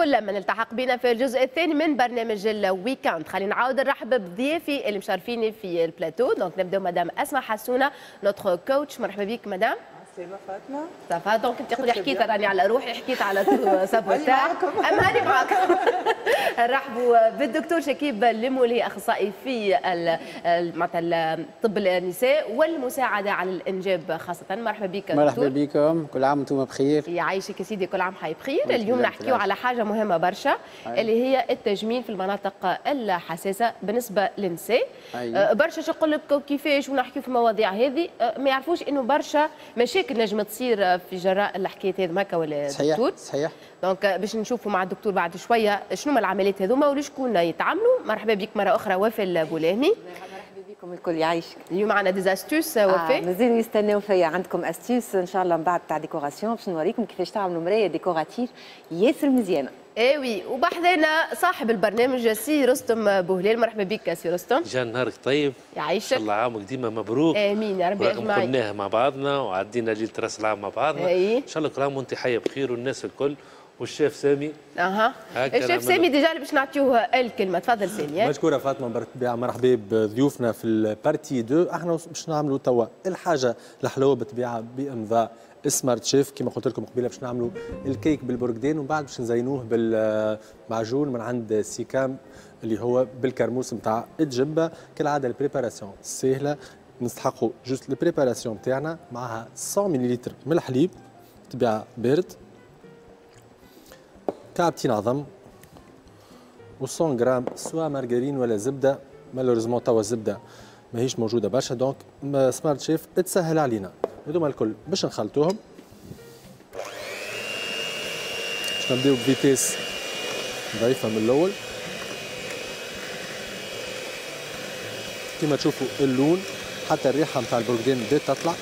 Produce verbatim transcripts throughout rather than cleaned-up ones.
كل من التحق بنا في الجزء الثاني من برنامج ال week-end. خلينا نعاود نرحب بضيافي اللي مشرفيني في ال plateau. donc نبداو مدام اسماء حسونه notre coach، مرحبا بك مدام. سلامة فاطمة. ça va؟ donc انت قولي حكيت راني على روحي، حكيت على sabotage، اما هاني معاكم. نرحبوا بالدكتور شكيب المولي، اخصائي في معناتها طب النساء والمساعدة على الانجاب خاصة. مرحبا بك دكتور. مرحبا بكم، كل عام وانتم بخير. يعيشك يا سيدي، كل عام حي بخير. اليوم نحكيو على حاجة مهمة برشا اللي هي التجميل في المناطق الحساسة بالنسبة للنساء. أيوة. برشا يقول لك كيفاش ونحكيو في المواضيع هذه، ما يعرفوش انه برشا مشاكل نجم تصير في جراء الحكاية هذه هكا ولا صحيح دكتور؟ صحيح. donc باش نشوفوا مع الدكتور بعد شوية شنو هما العمليات هذوما ولشكون يتعاملوا. مرحبا بك مرة اخرى وفاء البولاهمي. مرحبا بكم الكل، يعيشك. اليوم عندنا des astuces وفاء. آه مازالوا يستناو فيا، عندكم astuces ان شاء الله من بعد تاع décoration باش نوريكم كيفاش تعملوا مراية décorative ياسر مزيانه. اي oui، وبحذانا صاحب البرنامج سي رستم بوهلال. مرحبا بك سي رستم. جا نهارك طيب. يعيشك. ان شاء الله عامك ديما مبروك. امين يا ربي اجمعين. قلناها مع بعضنا وعدينا ليلة راس العام مع بعضنا. أي. ان شاء الله كل عام وانت حيه بخير والناس الكل والشيف سامي. اها الشيف سامي déjà اللي باش نعطيوه الكلمة، تفضل سامي. مشكورة فاطمة، بالطبيعة مرحبا بضيوفنا في ال partie deux. احنا باش نعملوا توا الحاجة الحلوة بالطبيعة بامضاء Smart Chef كما قلت لكم قبيلة، باش نعملوا الكيك بالبرقدين ومن بعد باش نزينوه بالمعجون من عند سيكام اللي هو بالكرموس نتاع الجبة. كالعادة ال préparation سهلة، نستحقوا juste ال préparation نتاعنا معها مية مليلتر من الحليب طبيعة بارد، كعبتين عظم، و مية غرام سواء مارغرين ولا زبدة. malheureusement توا الزبدة ماهيش موجودة برشا، donc Smart Chef تسهل علينا. هذوما الكل باش نخلطوهم، باش نبداو ب vitesse ضعيفة من الاول. كما تشوفوا اللون حتى الريحة نتاع البرقدان بدات تطلع.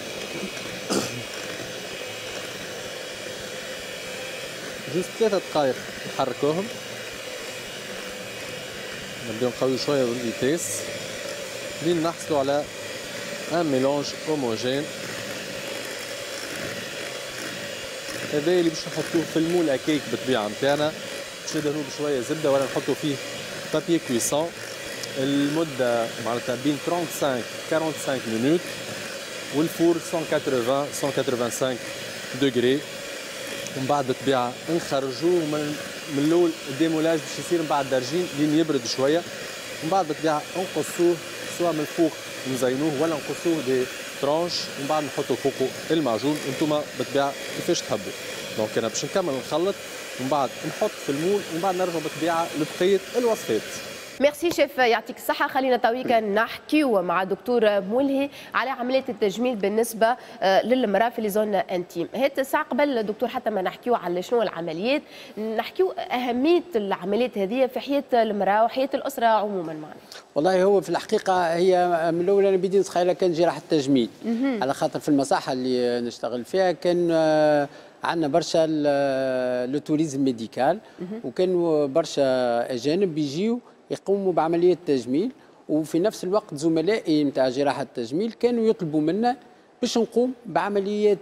juste ثلاثة دقائق نحركوهم، نبداو نقويو شوية بال vitesse لين نحصلوا على un mélange homogène. هذا اللي باش نحطوه في ال moule à cake بالطبيعة نتاعنا، باش ندهنوه بشوية زبدة ولا نحطوا فيه papier cuisson. المدة معناتها بين خمسة وثلاثين خمسة وأربعين minutes، وال four مية وثمانين مية وخمسة وثمانين degrés. ومن بعد بالطبيعة نخرجوه من من الاول ال démoulage باش يصير من بعد درجين لين يبرد شوية. ومن بعد بالطبيعة نقصوه سواء من الفوق نزينوه ولا نقصوه des tranches، ومن بعد نحطوا فوقه المعجون. انتم بالطبيعة كيفاش تحبوا. donc انا باش نكمل نخلط ومن بعد نحط في ال moule ومن بعد نرجع بالطبيعة لبقية الوصفات. merci chef، يعطيك الصحة. خلينا تويكا نحكيو مع دكتور ملهي على عملية التجميل بالنسبة للمرأة في les zones intimes. هات الساعة قبل دكتور حتى ما نحكيو على شنو العمليات، نحكيو أهمية العمليات هذه في حياة المرأة وحياة الأسرة عموما معنا. والله هو في الحقيقة هي من الأول أنا بدي نتخيلها كان جراحة التجميل، على خاطر في المصحة اللي نشتغل فيها كان عندنا برشا le tourisme médical، وكانوا برشا أجانب بيجيو يقوموا بعملية تجميل، وفي نفس الوقت زملائي نتاع جراحة التجميل كانوا يطلبوا منا باش نقوم بعمليات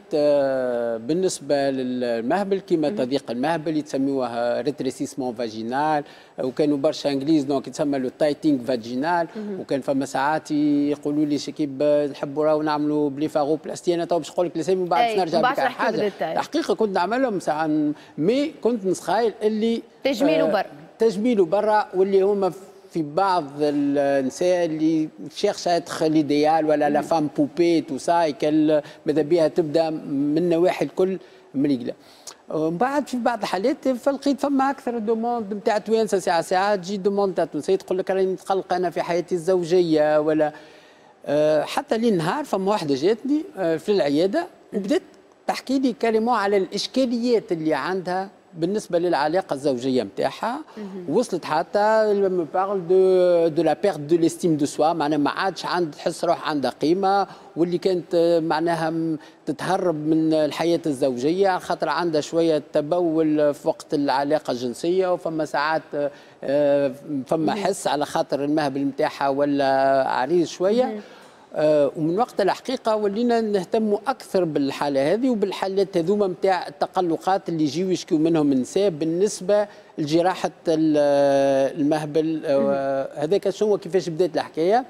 بالنسبة للمهبل كما تضييق المهبل يتسميوها rétrécissement vaginal، وكانوا برشا انجليز donc يتسمى le tightening vaginal. وكان فما ساعات يقولوا لي شكيب نحبوا راهو نعملوا blépharoplastie. انا تو باش نقول لك الاسامي ومن بعد نرجع بك على حاجة. الحقيقة كنت نعملهم ساعات، mais كنت نسخايل اللي تجميل وبر تجميل برا، واللي هما في بعض النساء اللي cherchent à être l'idéal ولا la femme poupée tout ça، ماذا بها تبدا من النواحي الكل مريقله. ومن بعد في بعض الحالات فلقيت فما اكثر demandes نتاع توانسة، ساعة ساعة تجي demande نتاع تونسية تقول لك راني متقلقه انا في حياتي الزوجية ولا أه حتى لين نهار فما واحدة جاتني في العيادة وبدات تحكي لي carrément على الاشكاليات اللي عندها بالنسبة للعلاقة الزوجية نتاعها. وصلت حتى me parle de de la perte de l'estime de soi، معناها ما عادش عند تحس روح عندها قيمة، واللي كانت معناها تتهرب من الحياة الزوجية خاطر عندها شوية تبول في وقت العلاقة الجنسية، وفما ساعات فما حس على خاطر المهبل نتاعها ولا عريض شوية. آه ومن وقت الحقيقة ولينا نهتموا اكثر بالحالة هذه وبالحالات هذوما نتاع التقلقات اللي يجيو يشكيو منهم النساء بالنسبة لجراحه المهبل. آه هذاك شنو كيفاش بدات الحكاية.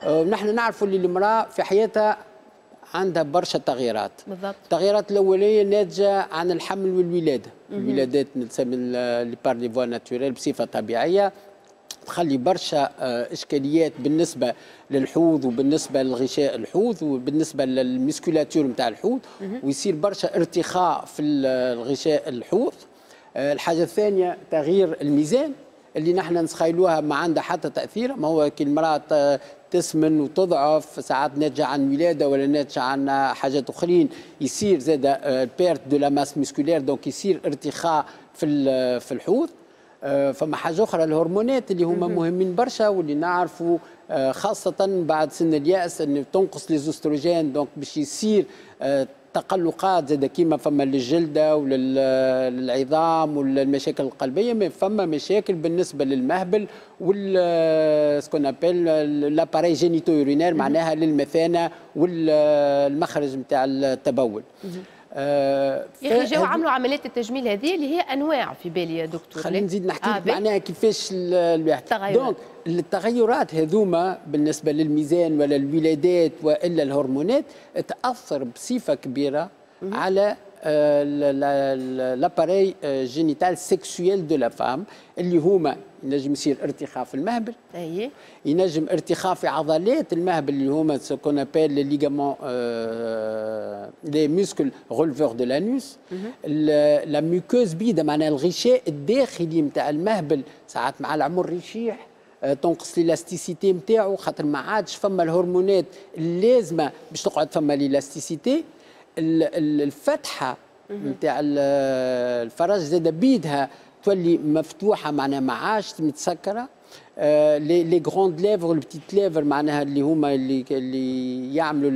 آه نحن نعرفوا اللي المراة في حياتها عندها برشا تغييرات. بالضبط. التغييرات الاولية ناتجة عن الحمل والولاده. الولادات نسمي les par les voies naturelles بصفة طبيعية تخلي برشا اشكاليات بالنسبة للحوض وبالنسبة للغشاء الحوض وبالنسبة لل musculature نتاع الحوض، ويصير برشا ارتخاء في الغشاء الحوض. الحاجة الثانية تغيير الميزان اللي نحن نتخيلوها ما عندها حتى تاثير، ما هو كي المراة تسمن وتضعف ساعات ناتجة عن ولاده ولا ناتجة عن حاجات اخرين، يصير زاد perte de la masse musculaire، donc يصير ارتخاء في في الحوض. فما حاجة اخرى الهرمونات اللي هما مهمين برشا واللي نعرفوا خاصة بعد سن الياس انه تنقص les œstrogènes، donc باش يصير تقلقات زاد كيما فما للجلده وللعظام والمشاكل القلبية، mais فما مشاكل بالنسبة للمهبل وال ce qu'on appelle l'appareil génito-urinaire، معناها للمثانه والمخرج نتاع التبول. آه يا اخي جاو عملوا عمليات التجميل هذه اللي هي انواع في بالي يا دكتور. خلينا نزيد نحكي لك آه معناها كيفاش الواحد donc التغيرات هذوما بالنسبة للميزان ولا الولادات والا الهرمونات تاثر بصفة كبيرة مم. على l'appareil génital sexuel de la femme، اللي هما ينجم يصير ارتخاء في المهبل، اي ينجم ارتخاء في عضلات المهبل اللي هما ce qu'on appelle les ligaments، les muscles releveurs de l'anus، la muqueuse بيدا معناها الغشاء الداخلي نتاع المهبل ساعات مع العمر يشيح، تنقص l'élasticité نتاعو خاطر ما عادش فما الهرمونات اللازمة باش تقعد فما l'élasticité. الفتحة نتاع الفرج زاد بيدها تولي مفتوحة، معناها ما عادش متسكره. آه les les grandes lèvres وال petites lèvres معناها اللي هما اللي اللي يعملوا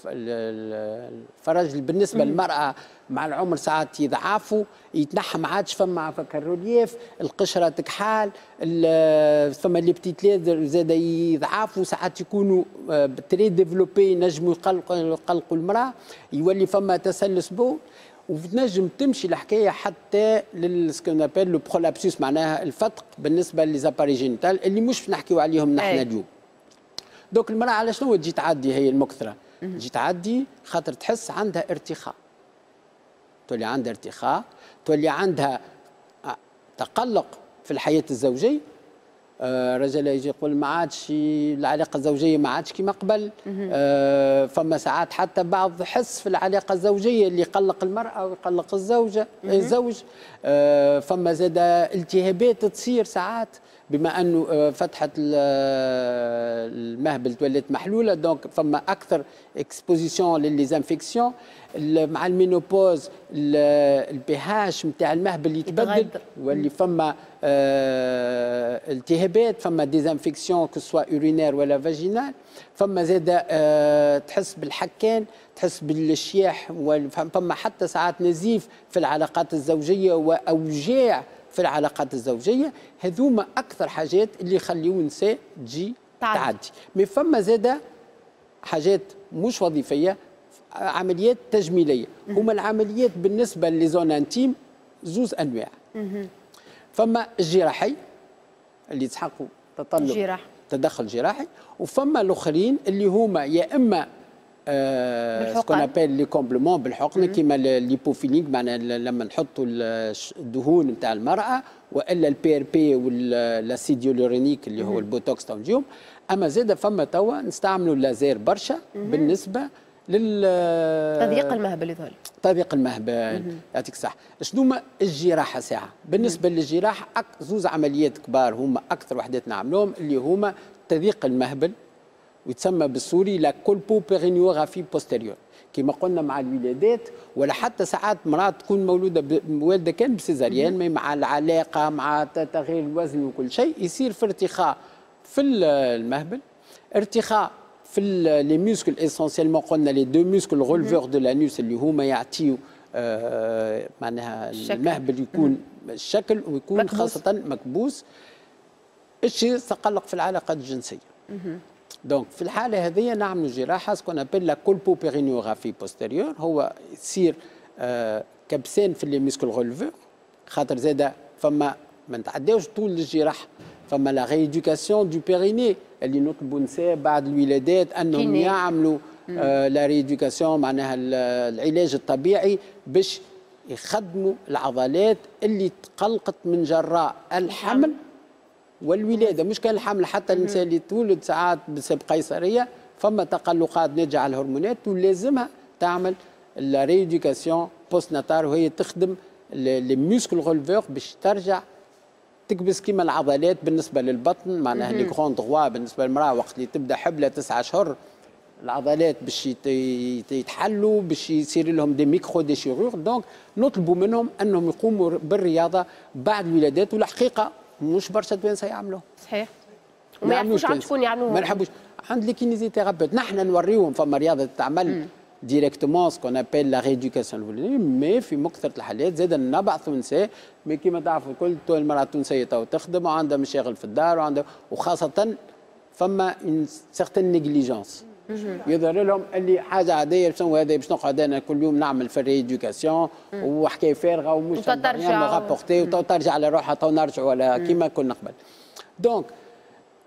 الفرج بالنسبة للمراة مع العمر ساعات يضعفوا يتنحى، ما عادش فما فك ال relief، القشرة تكحال، فما les petites lèvres زاد يضعفوا ساعات يكونوا très développées ينجموا يقلقوا يقلقوا المراة، يولي فما تسلس بول، وتنجم تمشي الحكاية حتى لل ce qu'on appelle le prolapsus معناها الفتق بالنسبة les appareils génitaux اللي مش نحكيو عليهم نحن اليوم. donc المراة على شنو تجي تعدي هي المكثره؟ تجي تعدي خاطر تحس عندها ارتخاء، تولي عندها ارتخاء، تولي عندها تقلق في الحياة الزوجية. آه رجل يجي يقول ما عادش العلاقة الزوجية ما عادش كما قبل. آه فما ساعات حتى بعض حس في العلاقة الزوجية اللي يقلق المراة ويقلق الزوجة الزوج. آه فما زاد التهابات تصير ساعات بما انه آه، فتحه المهبل تولت محلولة، donc فما اكثر exposition ل les infections. مع ال ménopause ال pH نتاع المهبل يتبدل، واللي فما آه التهابات، فما des infections que ce soit urinaires ولا vaginales. فما زاد آه تحس بالحكان، تحس بالشياح، فما حتى ساعات نزيف في العلاقات الزوجية واوجاع في العلاقات الزوجية. هذوما اكثر حاجات اللي يخليو النساء تجي تعدي. mais فما زاده حاجات مش وظيفيه، عمليات تجميليه. هما العمليات بالنسبة les zones intimes زوز انواع. فما الجراحي اللي يسحقوا تطلب جراح. تدخل جراحي، وفما الاخرين اللي هما يا اما ce qu'on appelle les comblements بالحقن كيما lipofilling معناها لما نحطوا الدهون نتاع المراة، والا ال PRP وال l'acide hyaluronique اللي هو البوتوكس تنجيوم. اما زاد فما توا نستعملوا اللازير برشا بالنسبة لل تضييق المهبل يظهر. تضييق المهبل، يعطيك الصحة. شنو ما الجراحة ساعة بالنسبة للجراحة أك زوز عمليات كبار هما أكثر وحدات نعملوهم اللي هما تضييق المهبل ويتسمى بالسوري la colpopérinéorraphie postérieure كما قلنا مع الولادات، ولا حتى ساعات مرات تكون مولودة والده كان ب césarienne، مع العلاقة مع تغيير الوزن وكل شيء يصير في ارتخاء في المهبل، ارتخاء في les muscles essentiellement قلنا les deux muscles releveurs de l'anus اللي هما يعطيو آه معناها المهبل يكون الشكل ويكون مكبوس. خاصة مكبوس. الشيء تقلق في العلاقات الجنسية. donc في الحالة هذه نعملوا جراحه ce qu'on appelle la colpopérinéorraphie postérieure، هو يصير آه كبسان في les muscles releveurs، خاطر زاده فما ما نتعداوش طول الجراحه، فما la rééducation du périnée اللي نطلبوا نساء بعد الولادات انهم يعملوا آه la rééducation، معناها العلاج الطبيعي باش يخدموا العضلات اللي تقلقت من جراء الحمل والولاده. مش كان الحمل، حتى النساء اللي تولد ساعات بسبب قيصرية فما تقلقات ناتجة على الهرمونات ولازمها تعمل la rééducation post-natale، وهي تخدم les muscles releveurs باش ترجع تكبس كيما العضلات بالنسبة للبطن، معناها les grands droits بالنسبة للمراة وقت اللي تبدا حبلة تسعة اشهر العضلات باش يتحلوا، باش يصير لهم des micro-déchirures. donc نطلبوا منهم انهم يقوموا بالرياضة بعد الولادات، والحقيقة مش برشا توانسة يعملوه. صحيح، وما يعرفوش عند شكون يعملوه. ما نحبوش عند les kinésithérapeutes، نحن نوريهم فما رياضة تعمل directement ce qu'on appelle la rééducation، mais في مكثرة الحالات زاد نبعثوا نساء، mais كيما تعرفوا الكل المراة التونسية تو تخدم وعندها مشاغل في الدار وعندها، وخاصة فما une certaine négligence، يظهر لهم اللي حاجة عاديه، شنو هذا باش نقعد انا كل يوم نعمل في ال rééducation وحكاية فارغة ومش rapporter وترجع على روحها، تو نرجع ولا كيما كنا قبل. donc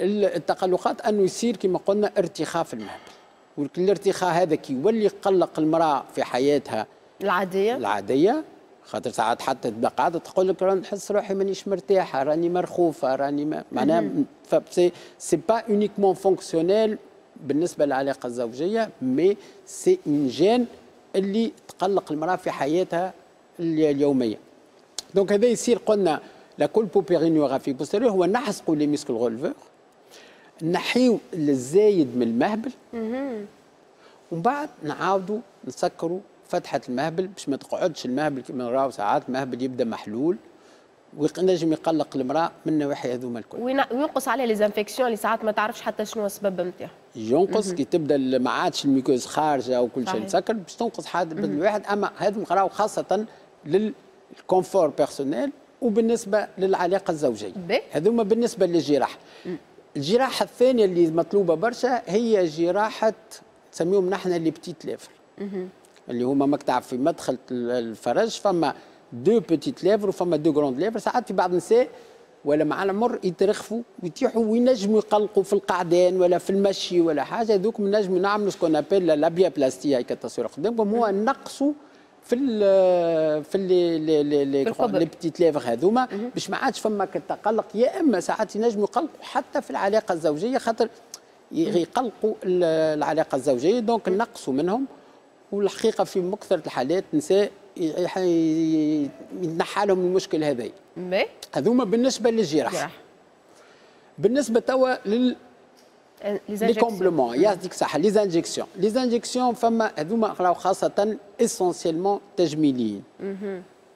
التقلقات انه يصير كما قلنا ارتخاء في المهبل، والارتخاء هذا كي يولي يقلق المراة في حياتها العاديه العاديه، خاطر ساعات حتى تبقى قاعدة تقول لك راني نحس روحي مانيش مرتاحه، راني مرخوفه، راني ما معناها c'est c'est pas uniquement fonctionnel بالنسبة للعلاقة الزوجيه، mais c'est une gêne اللي تقلق المراة في حياتها اليوميه. donc هذا يصير قلنا la colpopérinéorraphie postérieure، هو نحزقوا les muscles releveurs، نحيو الزايد من المهبل، ومن بعد نعاودوا نسكروا فتحه المهبل باش ما تقعدش المهبل كما نراو ساعات المهبل يبدا محلول وينجم يقلق المراة من النواحي هذوما الكل. وينقص عليه les infections اللي ساعات ما تعرفش حتى شنو السبب نتاعها. ينقص كي تبدا ما عادش ال muqueuse خارجه وكل شيء مسكر باش تنقص حاد الواحد. اما هذم قراو خاصة لل confort personnel وبالنسبة للعلاقة الزوجيه. هذوما بالنسبة للجراحه. الجراحة الثانية اللي مطلوبه برشا هي جراحه نسميهم نحن les petites lèvres، اللي هما ماك تعرف في مدخل الفرج فما deux petites lèvres وفما deux grandes lèvres. ساعات في بعض النساء ولا مع العمر يترخفوا ويتيحوا وينجموا يقلقوا في القعدان ولا في المشي ولا حاجه، هذوك نجموا نعملوا ce qu'on appelle la labiaplastie، هاي التصوير قدامكم، هو نقصوا في ال في les les les les petites lèvres هذوما باش ما عادش فما التقلق، يا اما ساعات ينجموا يقلقوا حتى في العلاقة الزوجيه، خاطر يقلقوا العلاقة الزوجيه، donc نقصوا منهم. والحقيقة في مكثره الحالات نساء يتنحى لهم المشكل هذا. هذوما بالنسبة للجراح. بالنسبة توا لل les compléments، يعطيك الصحه، les injections. les injections فما هذوما خاصة essentiellement تجميليين،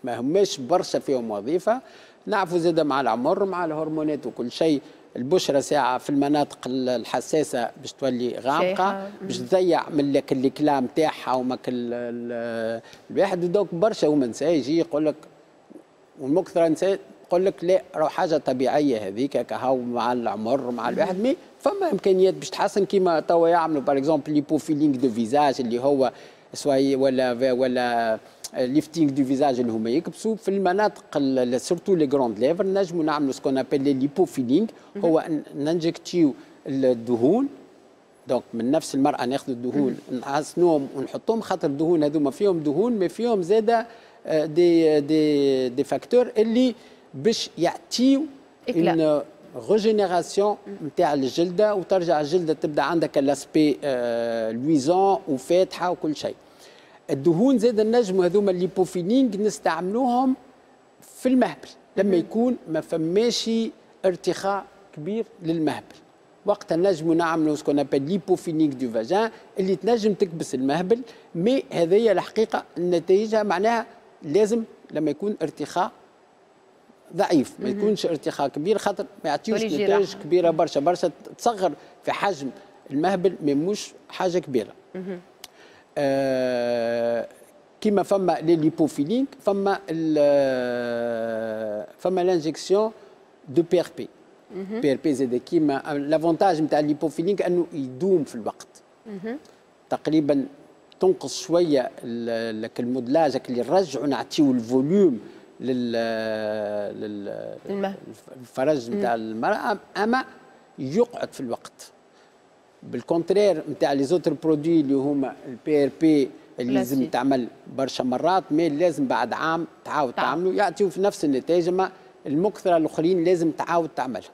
ما هماش برشا فيهم وظيفه. نعرفوا زاد مع العمر مع الهرمونات وكل شيء البشرة ساعة في المناطق الحساسة باش تولي غامقه، باش تضيع من لك l'éclat نتاعها وماك الواحد. donc برشا هما نساء يجي يقول لك، والمكثره نساء تقول لك لا راهو حاجة طبيعية هذيك كهو مع العمر مع الواحد، mais فما امكانيات باش تحسن كيما توا يعملوا par exemple lipofilling de visage اللي هو soit ولا ولا lifting du visage اللي هما يكبسوا في المناطق surtout les grandes lèvres، نجموا نعملوا ce qu'on appelle les lipofilling، هو ننجكتيو الدهون. donc من نفس المراة ناخذ الدهون نحسنوهم ونحطوهم، خاطر الدهون هذوما فيهم دهون mais فيهم زاده des des des facteurs اللي باش يعطيو une régénération نتاع الجلدة وترجع الجلدة تبدا عندك l'aspect luisant وفاتحه وكل شيء. الدهون زاد النجم هذوما ال lipofilling نستعملوهم في المهبل لما يكون ما فماش ارتخاء كبير للمهبل، وقتها نجموا نعملوا ce qu'on appelle lipofilling du vagin اللي تنجم تكبس المهبل، mais هذه الحقيقة النتائج معناها لازم لما يكون ارتخاء ضعيف، ما يكونش ارتخاء كبير، خاطر ما يعطيوش نتائج كبيرة برشا برشا، تصغر في حجم المهبل mais مش حاجة كبيرة. آه كيما فما les lipofilling، فما فما l'injection de PRP. PRP زاد كيما l'avantage نتاع ال lipofilling انه يدوم في الوقت، تقريبا تنقص شوية ال modelage اللي نرجعوا نعطيو ال volume لل للفرج نتاع المراة، اما يقعد في الوقت. بال contraire نتاع les autres produits اللي هما ال PRP اللي لازم تعمل برشا مرات، mais لازم بعد عام تعاود تعملوا، يعطيو في نفس النتائج، اما المكثره الاخرين لازم تعاود تعملها.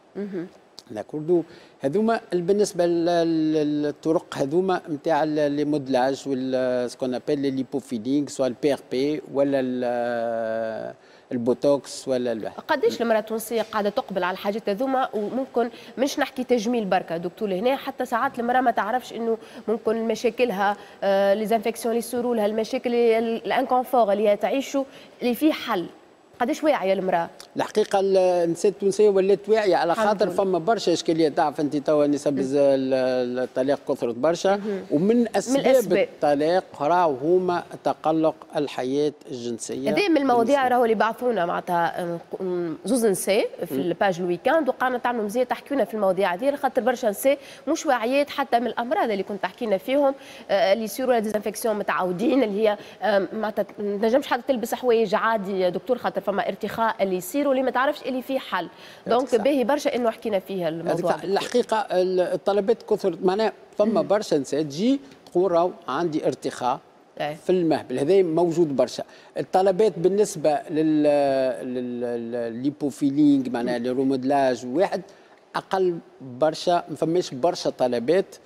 d'accord، هذوما بالنسبة للطرق هذوما نتاع les modelages وال ce qu'on appelle les lipofilling، soit ال PRP ولا البوتوكس ولا الواحد. قداش المراة التونسية قاعدة تقبل على الحاجات هذوما؟ وممكن مش نحكي تجميل بركة دكتور هنا، حتى ساعات المراة ما تعرفش انه ممكن مشاكلها، les infections اللي يصيروا لها، المشاكل، ال inconfort اللي هي تعيشه، اللي فيه حل. قداش واعية المراة؟ الحقيقة النساء التونسية ولات واعية على خاطر فما برشا اشكاليات. تعرف انت توا نسب الطلاق كثرت برشا، ومن اسباب من الأسباب. الطلاق راهو هما تقلق الحياة الجنسيه. هذه من المواضيع راهو اللي بعثونا معناتها زوز نساء في ال page ال week-end وقعنا تعملوا مزيان تحكيونا في المواضيع هذه، خاطر برشا نساء مش واعيات حتى من الامراض اللي كنت تحكينا فيهم، آه، اللي يصيروا des infections متعودين، اللي هي معناتها ما تنجمش حتى تلبس حوايج عادي دكتور، خاطر فما ارتخاء اللي يصير واللي ما تعرفش اللي فيه حل. donc باهي برشا انه حكينا فيها الموضوع. الحقيقة الطلبات كثرت، معناها فما برشا نساء تجي تقول راهو عندي ارتخاء في المهبل، هذا موجود برشا. الطلبات بالنسبة لل لل lipofilling معناها le remodelage واحد اقل برشا، ما فماش برشا طلبات.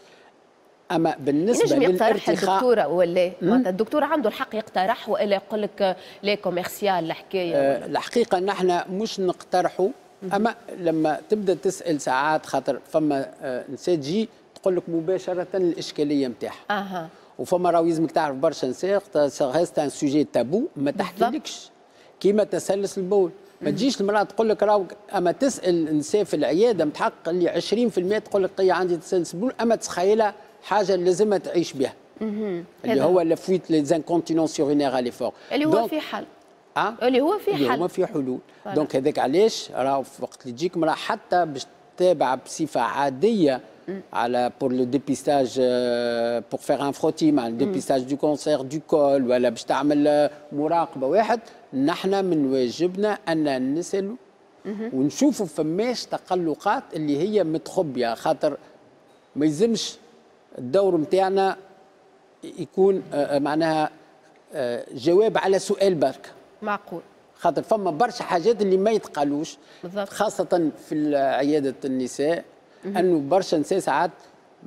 اما بالنسبة للارتخاء الدكتورة ولا معناتها الدكتور عنده الحق يقترح والا يقول لك لا commercial الحكايه؟ أه الحقيقة نحن مش نقترحوا، اما لما تبدا تسال ساعات، خاطر فما آه نساء تجي تقول لك مباشرة الاشكالية نتاعها. اها وفما راهو لازمك تعرف برشا نساء reste un sujet tabou، ما تحكيلكش كيما تسلس البول. ما تجيش المراة تقول لك راهو، اما تسال نساء في العيادة متحقق اللي عشرين في المية تقول لك عندي تسلس البول، اما تخيلها حاجة لازمها تعيش بها، اللي هو la fuite، les incontinences urinaires à l'effort. اللي هو في حل. أه؟ اللي هو في حل. اللي هو في حلول. donc هذاك علاش راهو في وقت اللي تجيك مراة حتى باش تتابع بصفة عادية على pour le dépistage، pour faire un frottis مع dépistage du cancer du col، ولا باش تعمل مراقبة واحد، نحن من واجبنا ان نسالوا ونشوفوا فماش تقلقات اللي هي متخبيه، خاطر ما يلزمش الدور نتاعنا يكون آه، معناها آه، جواب على سؤال برك. معقول. خاطر فما برشا حاجات اللي ما يتقالوش. بالضبط. خاصة في عيادة النساء، انه برشا نساء ساعات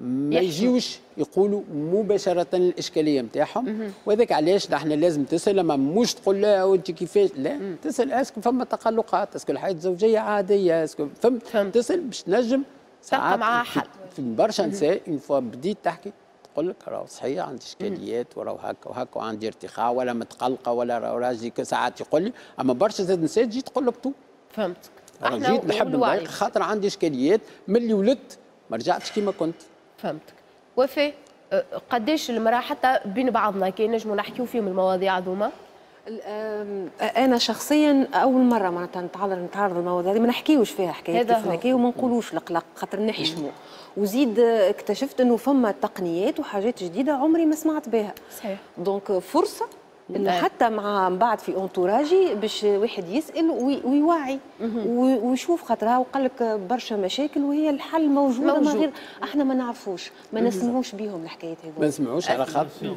ما يجيوش يقولوا مباشرة الإشكالية نتاعهم، وهذاك علاش نحن لازم تسأل، ما مش تقول لا وأنت كيفاش، لا، تسأل est-ce que فما تقلقات، est-ce que الحياة الزوجية عادية، est-ce que فهمت، فهمت. تسأل باش تنجم تلقى معاها حل. في برشا نساء une fois بديت تحكي تقول لك راهو صحيح عندي اشكاليات وراهو هكا وهكا وعندي ارتخاء ولا متقلقه ولا راهو راجلي ساعات يقول لي، اما برشا زاد نساء تجي تقول لك تو فهمتك. انا جيت نحب نضايق خاطر عندي اشكاليات، من اللي ولدت ما رجعتش كيما كنت. فهمتك. وفاء، أه، قداش المراة حتى بين بعضنا كي نجموا نحكيو فيهم المواضيع هذوما؟ انا شخصيا اول مرة معناتها نتعرض نتعرض للمواضيع هذه، ما نحكيوش فيها حكايات كيف نحكيو وما نقولوش القلق خاطر نحشموا، وزيد اكتشفت انه فما تقنيات وحاجات جديدة عمري ما سمعت بها. صحيح. donc فرصة انه حتى مع من بعد في entourage ي باش واحد يسال ويوعي ويشوف، خاطر وقال لك برشا مشاكل وهي الحل موجود، ما غير احنا ما نعرفوش، ما نسمعوش بيهم الحكايات هذو. ما نسمعوش على خاطر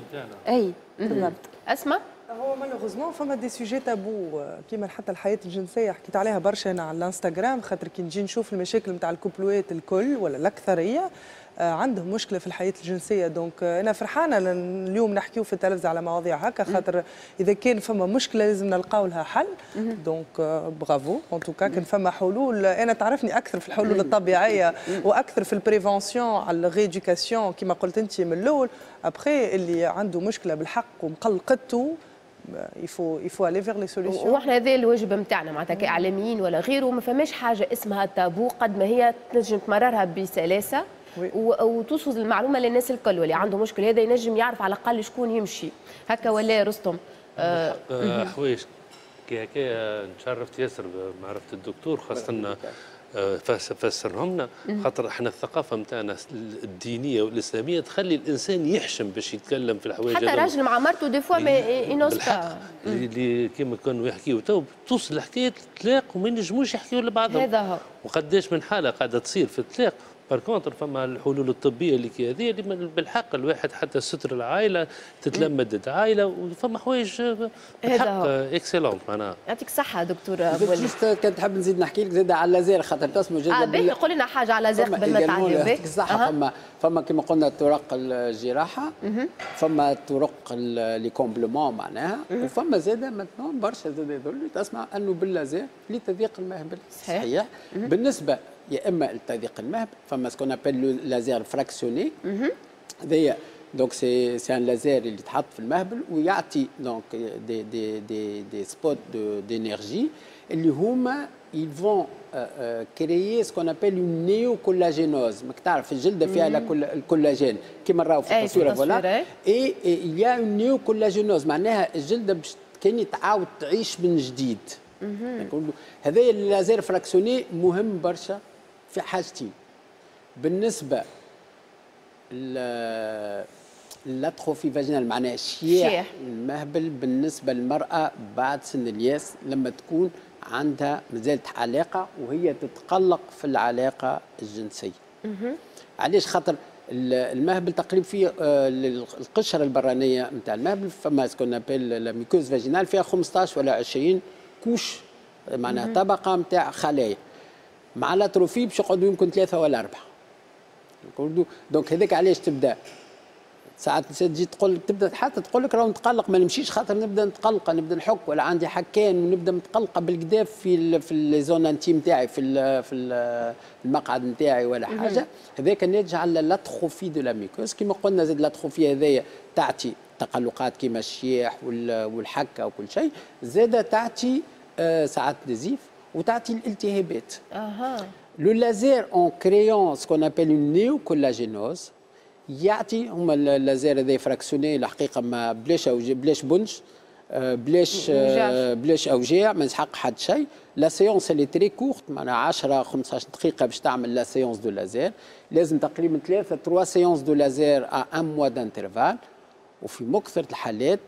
اي بالضبط. اسماء. هو malheureusement فما des sujets tabous كيما حتى الحياة الجنسيه، حكيت عليها برشا انا على الانستغرام، خاطر كي نجي نشوف المشاكل نتاع ال couple وات الكل ولا الاكثرية آه، عندهم مشكلة في الحياة الجنسيه. donc آه، انا فرحانة اليوم نحكيو في التلفزة على مواضيع هكا، خاطر اذا كان فما مشكلة لازم نلقاو لها حل. donc bravo en tout cas كان فما حلول. انا تعرفني اكثر في الحلول الطبيعية واكثر في ال prévention على ال rééducation كما قلت انت من الاول. après اللي عنده مشكلة بالحق ومقلقته il faut il faut aller vers les solutions. واحنا هذا الواجب نتاعنا معناتها كاعلاميين ولا غيره. ما فماش حاجة اسمها تابو قد ما هي تنجم تمررها بسلاسة وتوصل المعلومة للناس الكل، واللي عنده مشكل هذا ينجم يعرف على الاقل شكون يمشي هكا ولا رستم؟ آه حوايج كي هكا نشرفت ياسر بمعرفة الدكتور، خاصة فسرهم لنا، خاطر احنا الثقافة نتاعنا الدينية والاسلامية تخلي الانسان يحشم باش يتكلم في الحوايج. حتى راجل مع مرته des fois ما il n'ose pas، اللي كيما كانوا يحكيوا تو توصل الحكاية الطلاق وما ينجموش يحكيوا لبعضهم. هذا هو. وقداش من حاله قاعدة تصير في الطلاق. par contre فما الحلول الطبية اللي كي هذه اللي بالحق الواحد حتى ستر العائلة تتلمد العائلة، وفما حوايج بالحق excellentes معناها. يعطيك الصحة دكتور بولي. juste كان تحب نزيد نحكي لك زاد على اللازير خاطر تسمو جدا. اه باهي قول لنا حاجة على اللازير قبل ما تعدي. يعطيك الصحة. فما فما كما قلنا طرق الجراحة، فما طرق les comblements معناها، وفما زاد maintenant برشا زاد يظل تسمع انه باللازير لتضييق المهبل. صحيح. بالنسبة يا اما لتضييق المهبل فما ce qu'on appelle le laser fractionné، هذايا donc c'est c'est un laser اللي يتحط في المهبل ويعطي donc des des des des spots d'énergie اللي هما ils vont créer ce qu'on appelle une néocollagénose. ماك تعرف الجلدة فيها الكولاجين كيما نراو في التصويره voilà، et il y a une néocollagénose معناها الجلدة باش كان تعاود تعيش من جديد. هذا ال laser fractionné مهم برشا في حاجتين. بالنسبة l'atrophie vaginale معناها شياح المهبل بالنسبة للمراة بعد سن الياس لما تكون عندها مازالت علاقة وهي تتقلق في العلاقة الجنسية. علاش؟ خاطر المهبل تقريبا فيه القشرة البرانيه نتاع المهبل فما ce qu'on appelle la muqueuse vaginale فيها خمسطاش ولا عشرين couches معناها طبقه نتاع خلايا. مع l'atrophie باش يقعدوا يمكن ثلاثة ولا اربعة. donc هذاك علاش تبدا ساعات تجي تقول تبدا حتى تقول لك راهو نتقلق ما نمشيش خاطر نبدا نتقلق نبدا نحك ولا عندي حكان ونبدا متقلقه بالكدا في ال في les zones intimes تاعي في ال في المقعد نتاعي ولا حاجة. هذاك ناتج على l'atrophie de la muqueuse كيما قلنا. زاد l'atrophie هذايا تعطي تقلقات كيما الشياح والحكه وكل شيء، زاد تعطي ساعات نزيف وتعطي الالتهابات. اها. le laser en créant ce qu'on appelle une néocollagénose يعطي هما اللازير هذا fractionné الحقيقة ما بلاش أوجاع بلاش بنج بلاش بلاش اوجاع ما يسحق حد شيء. la séance elle est très courte معناها عشرة خمسطاش دقيقة باش تعمل la séance de laser. لازم تقريبا ثلاثة trois séances de laser à un mois d'intervalle. وفي مكثره الحالات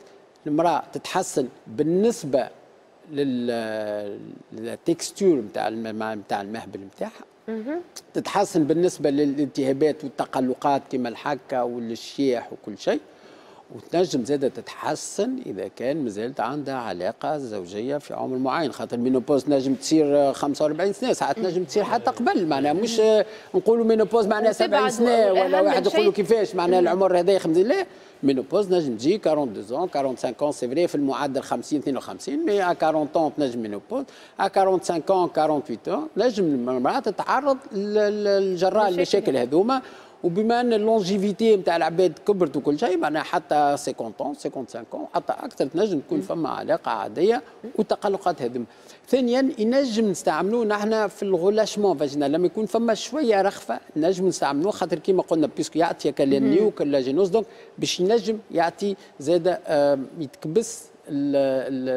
المراة تتحسن بالنسبة لل texture نتاع نتاع المهبل نتاعها، تتحسن بالنسبة للالتهابات والتقلقات كما الحكة والشياح وكل شيء، وتنجم زاده تتحسن اذا كان مازالت عندها علاقة زوجيه في عمر معين، خاطر ال ménopause تنجم تصير خمسة وأربعين سنة، ساعات تنجم تصير حتى قبل، معناها مش نقولوا ménopause معناها سبعين سنة ولا واحد يقولوا كيفاش معناها العمر هذا خمسين، لا ménopause نجم تجي اثنين وأربعين خمسة وأربعين c'est vrai في المعدل خمسين اثنين وخمسين، mais à أربعين تنجم ménopause، à خمسة وأربعين ثمانية وأربعين نجم المراة تتعرض للجراء المشاكل هذوما. وبما ان ال longévité نتاع العباد كبرت وكل شيء معناها حتى خمسين خمسة وخمسين حتى اكثر تنجم تكون فما علاقة عادية وتقلقات هذم. ثانيا ينجم نستعملوه نحن في ال relâchement vaginal لما يكون فما شوية رخفه نجم نستعملوه، خاطر كيما قلنا puisque يعطي néocollagénose donc باش ينجم يعطي زاد يتكبس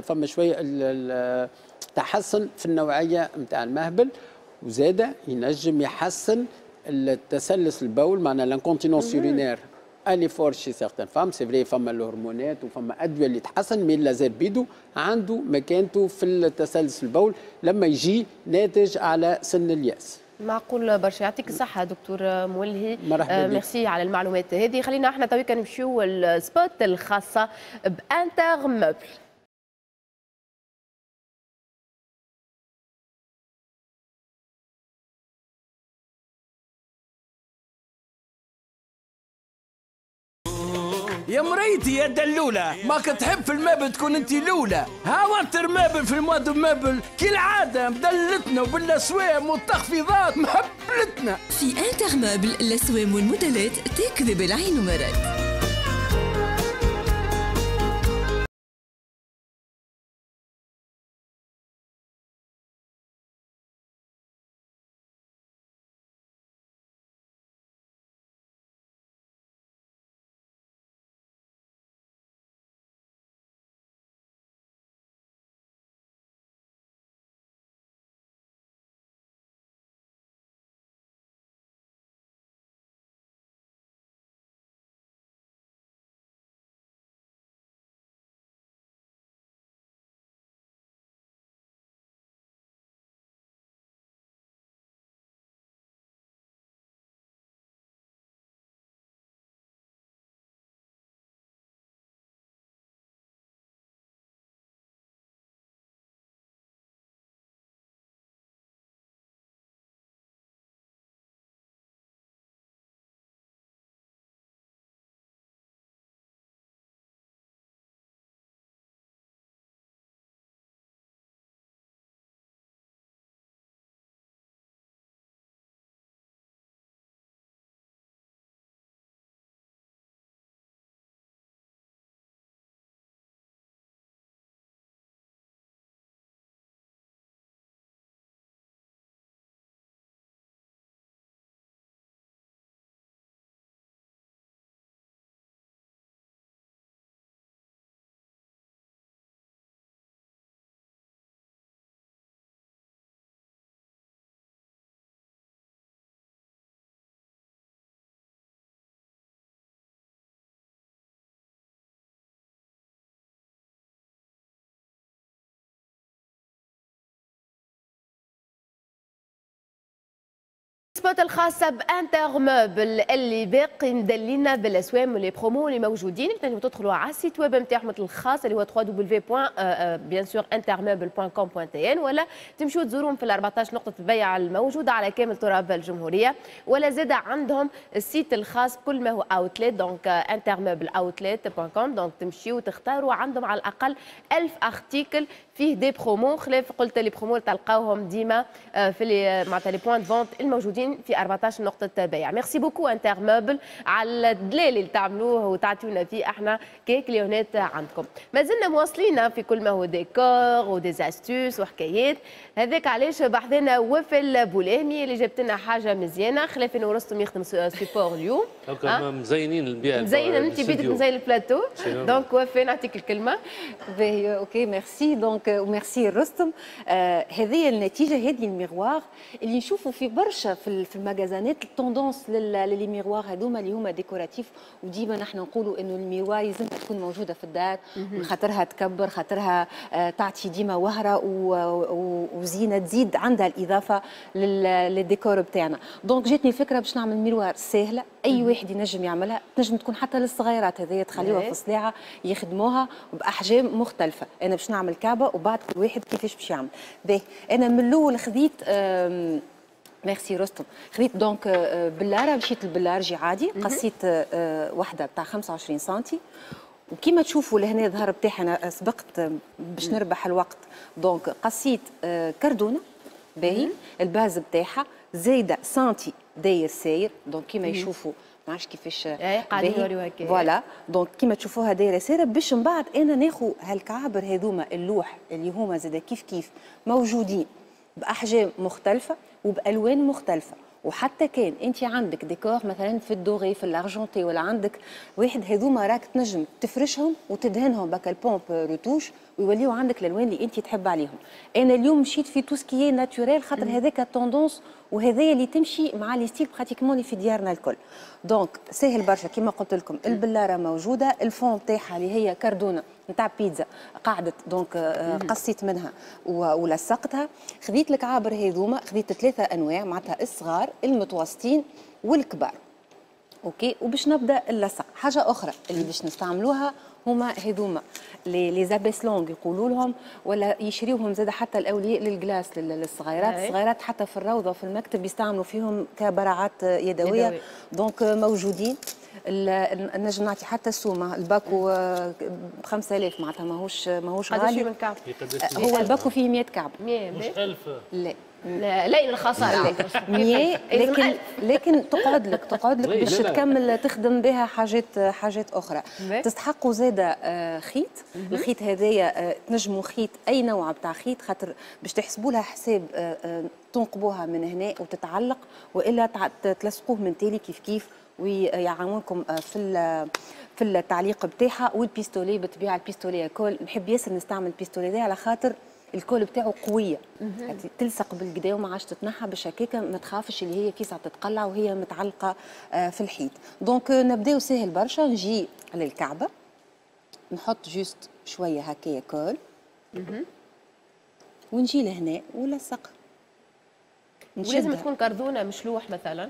فما شوية تحسن في النوعية نتاع المهبل، وزاد ينجم يحسن التسلس البول معناها l'incontinence urinaire elle est forte chez certaines femmes. c'est vrai فما الهرمونات وفما ادوية اللي تحسن، mais اللازير بيدو عنده مكانته في التسلس البول لما يجي ناتج على سن الياس. معقول برشا. يعطيك الصحة دكتور مولهي، مرحبا بك. ميرسي على المعلومات هذه. خلينا احنا تويكا نمشيو ال spot الخاصة ب Intermeuble. يا مريتي يا دلولة، ما كتحب في ال meuble تكون انت الاولى. ها Intermeuble في ال mois du meuble كالعادة مدلتنا وبالاسوام والتخفيضات مهبلتنا. في Intermeuble الاسوام والموديلات تكذب العين ومرات. spot الخاصة ب Intermeuble اللي باقي مدلينا بالاسوام و les promos اللي موجودين. تنجموا تدخلوا على ال site web نتاعهم الخاص اللي هو W W bien sûr intermeuble point com point T N، ولا تمشوا تزورهم في ال أربعطاش نقطة بيع الموجودة على كامل تراب الجمهورية، ولا زاد عندهم ال site الخاص بكل ما هو outlet، donc intermeuble outlet point com. donc تمشيوا تختاروا عندهم على الأقل ألف article فيه des promos، خلاف قلت les promos تلقاوهم ديما آه، في les معناتها les points de vente الموجودين في أربعطاش نقطة بيع. merci beaucoup Intermeuble على الدلال اللي تعملوه وتعطيونا فيه احنا ك clients عندكم. ما زلنا مواصلين في كل ما هو décor و des astuces وحكايات، هذاك علاش بحذنا وفا البولامي اللي جابت لنا حاجة مزيانة، خلاف انه رستم يخدم support اليوم. مزينين البيئة. مزينة انت بيدك، مزين ال plateau، donc وفا نعطيك الكلمة. باهي، OK، merci. donc merci رستم. آه هذه النتيجة، هذه ال miroir اللي نشوفوا في برشا في في المجازانات، ال tendance ل les miroirs هذوما اللي هما décoratifs. وديما نحن نقولوا انه ال miroir لازم تكون موجودة في الدار، خاطرها تكبر، خاطرها آه تعطي ديما وهره وزينه، تزيد عندها الاضافة للديكور بتاعنا. donc جاتني الفكرة باش نعمل miroir سهله، اي واحد ينجم يعملها، تنجم تكون حتى للصغيرات هذه، تخليوها في صلاعه يخدموها باحجام مختلفه. انا باش نعمل كعبه وبعد كل واحد كيفاش باش يعمل. باهي، انا من الاول خذيت، ميرسي رستم، خذيت donc بلاره، مشيت البلارجي عادي، قصيت واحدة بتاع خمسة وعشرين سنتي. وكما تشوفوا لهنا الظهر بتاعي، انا سبقت باش نربح الوقت، donc قصيت كردونه. باهي، ال base بتاعها زايدة سنتي داير ساير، donc كيما يشوفوا، ما عرفتش كيفاش. اي، قاعدين نوريو هكا. voilà، donc كيما تشوفوها دايرة سايرة، باش من بعد انا ناخذ هالكعابر هذوما اللوح اللي هما زاد كيف كيف موجودين باحجام مختلفة وبالوان مختلفه. وحتى كان انت عندك ديكور مثلا في ال doré، في l'argenté، ولا عندك واحد هذوما، راك تنجم تفرشهم وتدهنهم بك ال pompe retouche ويوليو عندك الالوان اللي انت تحب عليهم. انا اليوم مشيت في tout ce qui est naturel، خاطر هذاك tendance وهذايا اللي تمشي مع les styles pratiquement اللي في ديارنا الكل. donc ساهل برشا، كيما قلت لكم البلاره موجوده، ال fond تاعها اللي هي كردونه نتاع بيتزا قعدت، donc آه، قصيت منها ولصقتها. خذيت الكعابر هذوما، خذيت ثلاثة انواع، معناتها الصغار، المتوسطين والكبار. OK، وباش نبدا اللصق. حاجة اخرى اللي باش نستعملوها هما هذوما les les abaisse-langues يقولوا لهم، ولا يشريوهم زاد حتى الاولياء لل glace للصغيرات. الصغيرات حتى في الروضة وفي المكتب يستعملوا فيهم كبراعات يدويه. donc موجودين، نجم نعطي حتى السومه، الباكو ب خمسة آلاف، معناتها ماهوش ماهوش غالي. من كعب؟ هو الباكو فيه مية كعب. مية. مش ألف؟ لا. لا لا، الخساره. مية، لكن لكن تقعد لك تقعد لك باش تكمل تخدم بها حاجات حاجات اخرى. تستحقوا زاده آه، خيط. الخيط هذايا آه، تنجموا خيط اي نوع بتاع خيط، خاطر باش تحسبوا لها حساب آه، تنقبوها من هنا وتتعلق، والا تلصقوه من تالي كيف كيف ويعاونكم في في التعليق بتاعها. وال pistolet بالطبيعه، ال pistolet à colle، نحب ياسر نستعمل ال pistolet ده على خاطر ال colle بتاعه قويه، تلصق بالقدا وما عادش تتنحى، باش هكاك ما تخافش اللي هي فيسع تتقلع وهي متعلقه آه، في الحيط. donc نبداو، ساهل برشا. نجي للكعبه، نحط juste شوية هكايا colle ونجي لهنا ولصق. ولازم تكون كردونه مش لوح مثلا؟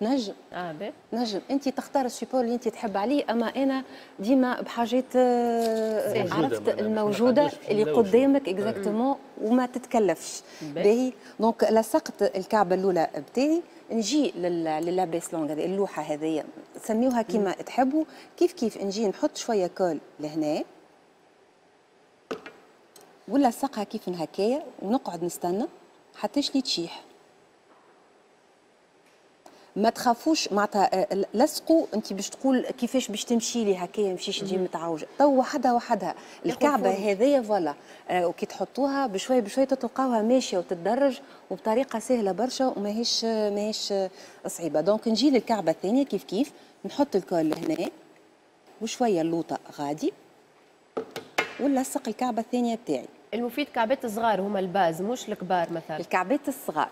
نجم. اه باهي. نجم انت تختار ال support اللي انت تحب عليه، اما انا ديما بحاجات آه، عرفت الموجودة اللي قدامك exactement وما تتكلفش. باهي، donc لصقت الكعبة الاولى بتاعي. نجي ل l'abaisse-langue هذه، اللوحة هذه، سميوها كيما تحبوا. كيف كيف نجي نحط شوية colle لهنا ونلصقها كيف هكايا ونقعد نستنى حتى لي تشيح. ما تخافوش، معناتها آه، لصقوا. انت باش تقول كيفاش باش تمشي لي هكايا، مشيش تجي متعوجه، تو وحدها وحدها الكعبة هذيا. voilà، آه وكي تحطوها بشوي بشوي تلقاوها ماشية وتتدرج وبطريقة سهلة برشا وماهيش ماهيش صعيبه. donc نجي للكعبة الثانيه، كيف كيف نحط ال colle هنا وشوية اللوطه غادي ونلصق الكعبة الثانية بتاعي. المفيد كعبات الصغار هما ال base، مش الكبار مثلا. الكعبات الصغار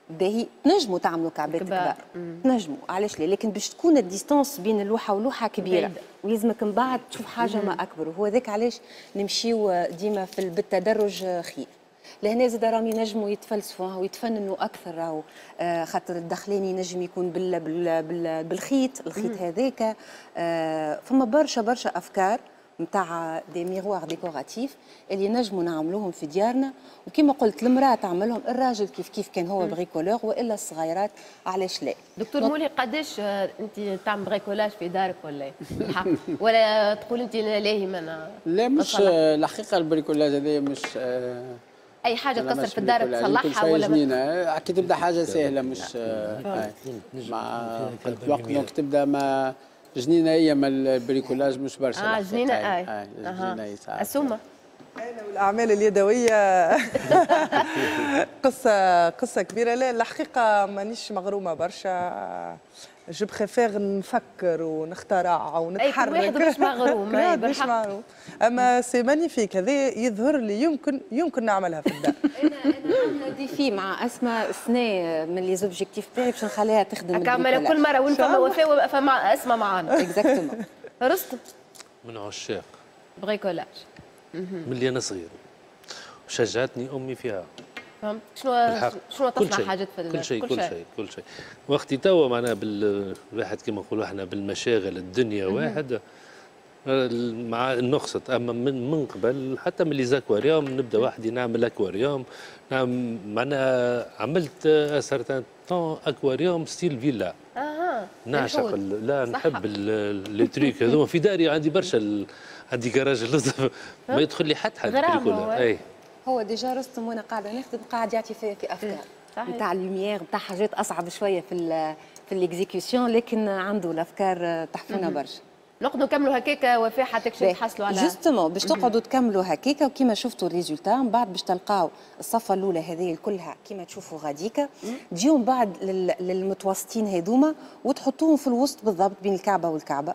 باهي، تنجموا تعملوا كعبات كبار، تنجموا، علاش لا، لكن باش تكون ال distance بين اللوحة واللوحه كبيرة ويلزمك من بعد تشوف حاجة ما اكبر، وهو ذاك علاش نمشيو ديما في بالتدرج خير. لهنا زاد راهم ينجموا يتفلسفوا ويتفننوا اكثر، راهو آه خاطر الدخلاني ينجم يكون بال بال بال بالخيط، الخيط هذاك. آه فما برشا برشا افكار نتاع des miroirs décoratifs اللي نجموا نعملوهم في ديارنا، وكما قلت المراة تعملهم، الراجل كيف كيف كان هو bricoleur، والا الصغيرات علاش لا. دكتور مولي، قداش انت تعمل bricolage في دارك ولا الحق ولا تقول انت لاهي ما؟ لا مش الحقيقة ال bricolage هذايا مش اي حاجة تكسر في الدار تصلحها ولا جنينة، كي تبدا حاجة سهلة مش مع الوقت، donc تبدا ما جنينة هي ما ال bricolage مش برشا. اه جنينة اي جنينة اسومه. انا والاعمال اليدوية قصة قصة كبيرة. لا الحقيقة مانيش مغرومه برشا، je préfère نفكر ونخترع ونتحرك. اي واحد مش مغروم، مش مغروم، اما c'est magnifique هذا يظهر لي يمكن يمكن نعملها في الدار. انا انا عامله défi مع اسماء السنة من les objectifs تاعي باش نخليها تخدم كامل كل مرة وين فما وفاء فما اسماء معانا. exactement. رستم من عشاق bricolage من اللي انا صغير، وشجعتني امي فيها. فهمت شنو شنو تصنع حاجات في كل شيء كل شيء كل شيء. وقتي توا معناها بالواحد كما نقولوا احنا بالمشاغل الدنيا واحد مع نقصت، اما من من قبل حتى من les aquariums نبدا وحدي نعمل اكواريوم، نعم معناها عملت certain temps aquarium style villa. اها نعشق لا نحب les trucs هذوما في داري، عندي برشا ال... عندي كراج اللطف ما يدخل لي حتى حد. اي هو déjà رستم وانا قاعدة نخدم قاعد يعطي في, في افكار نتاع ال lumière نتاع حاجات اصعب شوية في ال في l'exécution، لكن عنده الافكار تحفونا برشا. نقعدوا نكملوا هكاكا وفاء حتى كش تحصلوا على justement باش تقعدوا تكملوا هكاكا، وكيما شفتوا ال résultat من بعد باش تلقاو الصفة الاولى هذه كلها كيما تشوفوا غاديكا، تجيو من بعد للمتوسطين هذوما وتحطوهم في الوسط بالضبط بين الكعبة والكعبة.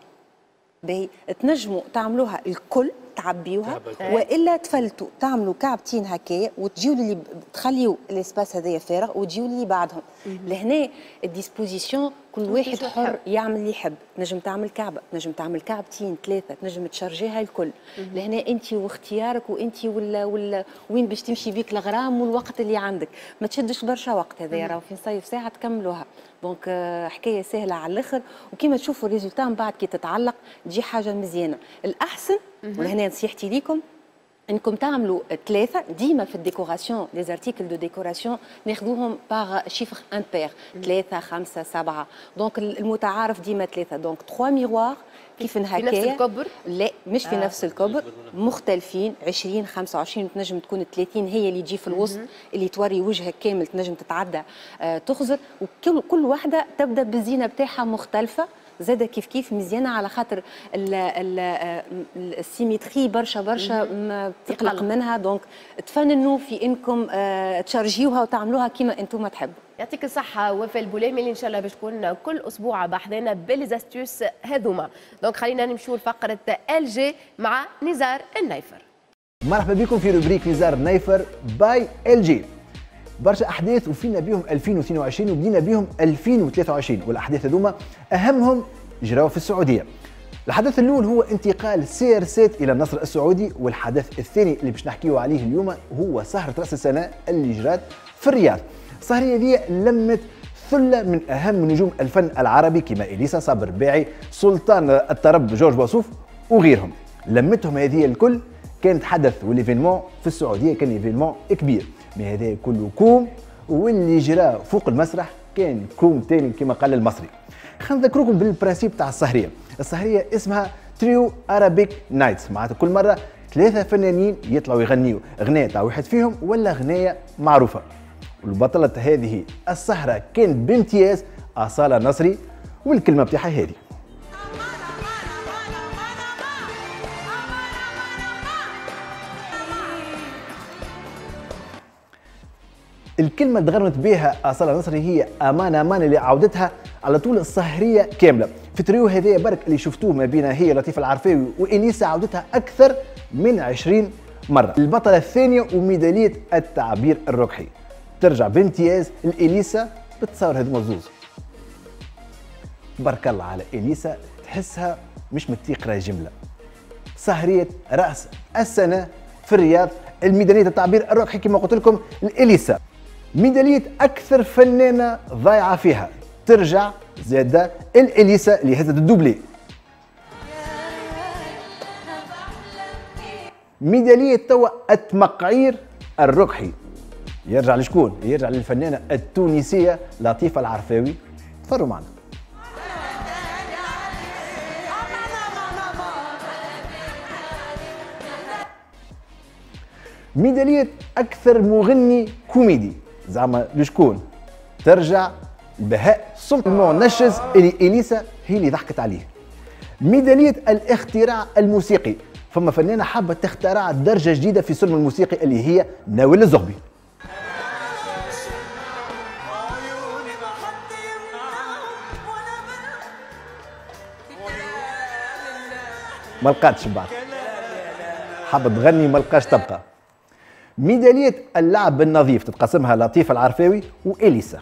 باهي تنجموا تعملوها الكل تعبيوها والا تفلتوا تعملوا كعبتين هكايا وتجيو للي تخليوا l'espace هذايا فارغ وتجيو للي بعدهم. لهنا ال disposition كل واحد حر يعمل اللي يحب، تنجم تعمل كعبه، تنجم تعمل كعبتين ثلاثة، تنجم تشارجيها الكل. لهنا انت واختيارك وانت ولا ولا وين باش تمشي بيك الغرام والوقت اللي عندك، ما تشدش برشا وقت هذايا راهو في نصيف ساعة تكملوها. donc حكاية سهلة على الاخر، وكيما تشوفوا ال résultat من بعد كي تتعلق تجي حاجة مزيانه. الاحسن ولهنا نصيحتي ليكم انكم تعملوا ثلاثة ديما في ال décoration، les articles de décoration ناخذوهم par chiffre impair، ثلاثة خمسة سبعة، donc المتعارف ديما ثلاثة. donc ثلاثة miroirs كيف هكايا في نفس الكبر؟ لا مش في آه. نفس الكبر، مختلفين عشرين خمسة وعشرين، تنجم تكون ثلاثين هي اللي تجي في الوسط اللي توري وجهك كامل، تنجم تتعدى آه تخزر، وكل كل واحدة تبدا بالزينه بتاعها مختلفة زاده كيف كيف مزيانه، على خاطر ال symétrie برشا برشا تقلق منها. donc تفننوا في انكم تشارجيوها وتعملوها كيما انتم تحبوا. يعطيك الصحة وفاء البوليمي اللي ان شاء الله باش تكون كل اسبوع بحذانا ب les astuces هذوما. donc خلينا نمشيو لفقرة LG مع نزار النيفر. مرحبا بكم في rubrique نزار النيفر by LG. برشا احداث وفينا بهم ألفين واثنين وعشرين وبدينا بهم ألفين وثلاثة وعشرين، والاحداث هذوما اهمهم جراو في السعودية. الحدث الاول هو انتقال CR سبعة الى النصر السعودي، والحدث الثاني اللي باش نحكيو عليه اليوم هو سهره راس السنة اللي جرات في الرياض. السهريه دي لمت ثلة من اهم نجوم الفن العربي كما اليسا، صابر الرباعي، سلطان الطرب جورج وسوف وغيرهم. لمتهم هذه الكل كانت حدث، وال événement في السعودية كان événement كبير. mais هذا كله كوم، واللي جرى فوق المسرح كان كوم تاني كما قال المصري. خلينا نذكركم بال principe تاع السهريه. السهريه اسمها Trio Arabic Nights، معناتها كل مرة ثلاثة فنانين يطلعوا يغنيوا اغنية تاع واحد فيهم ولا اغنية معروفة. والبطله هذه السهرة كان بامتياز اصاله نصري، والكلمة بتاعها هذه. الكلمة اللي تغنت بها أصالة نصري هي أمان أمان، اللي عودتها على طول السهرية كاملة. في تريو هذايا برك اللي شفتوه ما بين هي لطيفة العرفاوي وإليسا عودتها أكثر من عشرين مرة. البطلة الثانية وميدالية التعبير الركحي ترجع بامتياز لإليسا بتصور هذوما الزوز. بارك الله على إليسا، تحسها مش متيقرة جملة. سهرية رأس السنة في الرياض الميداليه التعبير الركحي كما قلت لكم الاليسا. ميدالية اكثر فنانة ضايعة فيها ترجع زاده الاليسا اللي هزت ال doublé. ميدالية توا التمقعير الركحي يرجع لشكون؟ يرجع للفنانه التونسية لطيفة العرفاوي. تفرجوا معنا. ميدالية أكثر مغني كوميدي زعما لشكون؟ ترجع بهاء سلطان نشز اللي إليسا هي اللي ضحكت عليه. ميدالية الاختراع الموسيقي، فما فنانة حابة تخترع درجة جديدة في سلم الموسيقي اللي هي ناويل الزغبي. ما لقاتش بعد، حابة تغني ما لقاش تبقى. ميدالية اللعب النظيف تتقسمها لطيفة العرفاوي وإليسا.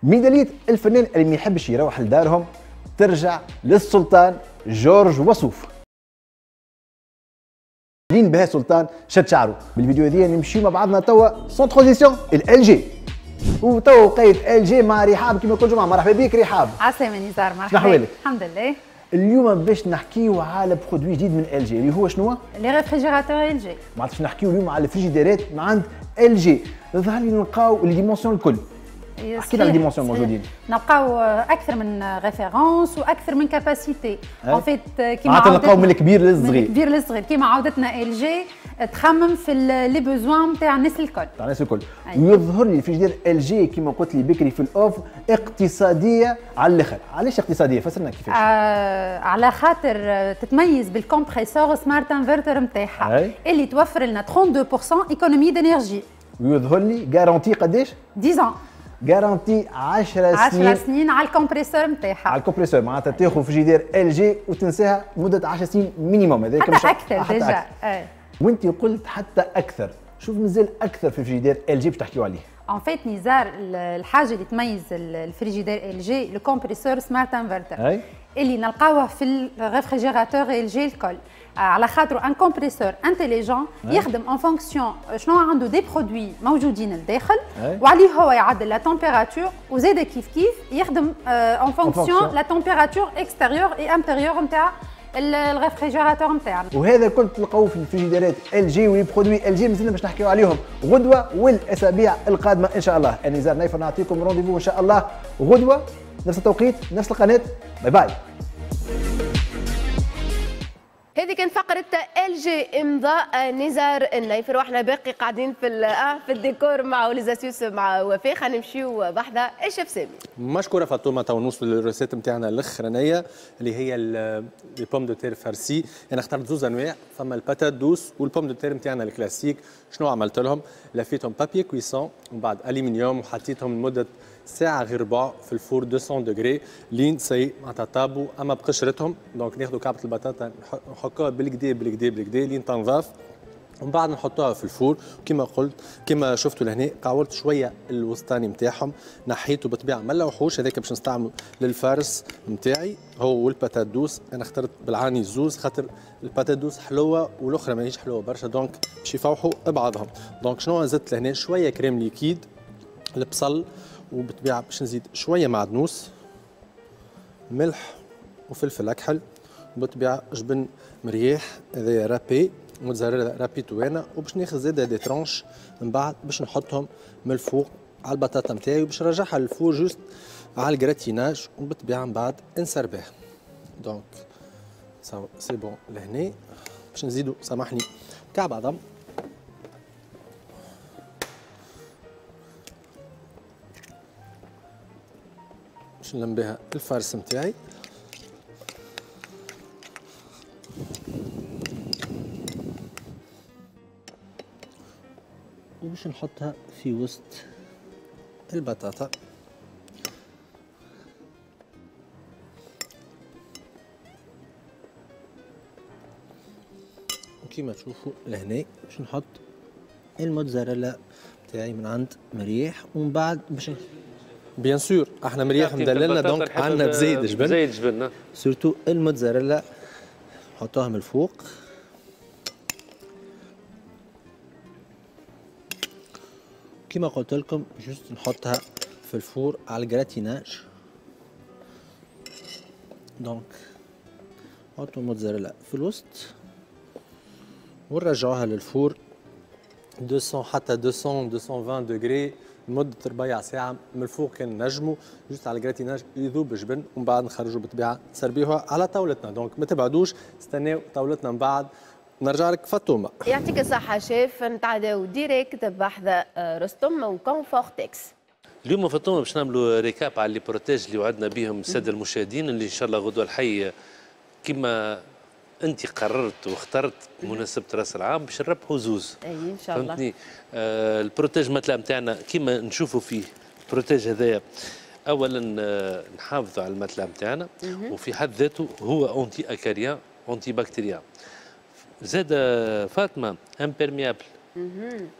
ميدالية الفنان اللي ما يحبش يروح لدارهم ترجع للسلطان جورج وصوف. لين بها سلطان شد شعره. بالفيديو هذه نمشيو مع بعضنا توا sans transition LG. وتوا وقيت LG مع رحاب كما كل جمعه. مرحبا بك رحاب. عسلامة نزار، مرحبا. الحمد لله. اليوم باش نحكيو على produit جديد من LG اللي هو شنو؟ les réfrigérateurs LG. معناتها باش نحكيو اليوم على الفريجيديرات من عند LG. ظهر لي نلقاو les dimensions الكل. احكي لنا les dimensions موجودين. نلقاو اكثر من référence واكثر من capacité. en fait كيما عاودتنا نلقاو من الكبير للصغير. من الكبير للصغير كيما عودتنا LG تخمم في les besoins نتاع الناس الكل. تاع الناس الكل. ويظهر لي ال frigidaire LG كيما قلت لي بكري في ال off اقتصادية على الاخر. علاش اقتصادية؟ فسرنا كيفاش. آه على خاطر تتميز بال compresseur smart inverter نتاعها اللي توفر لنا اثنين وثلاثين بالمية économie d'énergie. ويظهر لي garantie قداش؟ عشرة garantie عشر سنين. عشر سنين على ال compresseur نتاعها. على ال compresseur معناتها تاخذ frigidaire LG وتنساها مده عشر سنين minimum. هذاك حتى اكثر déjà. اي وانت قلت حتى اكثر، شوف مازال اكثر في frigidaire LG باش تحكيو عليه. en fait نزار الحاجة اللي تميز ال frigidaire LG le compresseur smart inverter اللي نلقاوه في ال réfrigérateur LG الكل، على خاطر un compresseur intelligent يخدم en fonction شنو عنده des produits موجودين لداخل وعليه هو يعدل la température وزاد كيف كيف يخدم en fonction la température extérieure et intérieure نتاع ال réfrigérateur نتاعنا. وهذا الكل تلقاوه في الفريجيديرات LG و les produits LG مازلنا باش نحكيو عليهم غدوه والاسابيع القادمة ان شاء الله. انا نزار نايفر نعطيكم rendez-vous ان شاء الله غدوه نفس التوقيت نفس القناة. bye bye. هذه كانت فقرة LG امضاء نزار النيفر، واحنا باقي قاعدين في في الديكور مع les astuces مع وفاء. خلينا نمشيو بحذا الشيف سامي. مشكورة فاطمة. تو نوصلوا لل recette نتاعنا الاخرانية اللي هي les pommes de terre farcies. انا اخترت زوز انواع، فما ال patate douce وال pomme de terre نتاعنا الكلاسيك. شنو عملت لهم؟ لفيتهم papier cuisson ومن بعد الومنيوم وحطيتهم لمدة ساعة غير ربع في ال four مئتين degrés لين ça y est معناتها طابوا اما بقشرتهم. donc ناخذوا كعبة البطاطا نحكوها بالكدا بالكدا بالكدا لين تنضاف ومن بعد نحطوها في ال four. كما قلت كما شفتوا لهنا قاولت شوية الوسطاني نتاعهم، نحيته بالطبيعة ما نلوحوش، هذاك باش نستعمله لل farce نتاعي هو وال patate douce. انا اخترت بالعاني زوز خاطر ال patate douce حلوة والاخرى ماهيش حلوة برشا، donc باش يفوحوا بعضهم. donc شنو زدت لهنا؟ شوية crème liquide، البصل، وبالطبيعه باش نزيد شوية معدنوس، ملح وفلفل اكحل، وبالطبيعه جبن مريح هذايا râpé موتزاريلا رابيتو انا، وباش ناخذ زاده des tranches من بعد باش نحطهم من الفوق على البطاطا نتاعي وباش نرجعها لل four juste على ال gratinage، وبالطبيعه من بعد نسربيه. donc c'est bon لهنا باش نزيدو سامحني كعب عظم، باش نلم بها ال farce نتاعي. وباش نحطها في وسط البطاطا. وكما تشوفوا لهنا باش نحط الموتزاريلا تاعي من عند مريح، ومن بعد باش bien sûr احنا مرياح مدللنا donc عندنا بزايد جبن، بزايد جبن surtout الموتزاريلا نحطوها من الفوق. كما قلت لكم juste نحطها في ال four على ال gratinage. donc نحطوا الموتزاريلا في الوسط ونرجعوها لل four مئتين حتى مئتين مئتين وعشرين degrés لمدة ربع ساعة من الفوق كان نجموا juste على ال gratinage يذوب جبن، ومن بعد نخرجوا بالطبيعة نسربيوها على طاولتنا. donc ما تبعدوش، استناو طاولتنا من بعد نرجع لك فاطمة. يعطيك الصحة شيف، نتعداو direct بحذا رستم و Confortex. اليوم فاطمة باش نعملوا récap على les protèges اللي وعدنا بهم السادة المشاهدين، اللي ان شاء الله غدوه الحي كما انت قررت واخترت بمناسبة راس العام باش نربحوا زوز. اي ان شاء الله. فهمتني؟ آه ال protège matelas نتاعنا كما نشوفوا فيه ال protège هذايا اولا آه نحافظوا على ال matelas نتاعنا، وفي حد ذاته هو anti-acarien antibactérien. زاد فاطمة imperméable.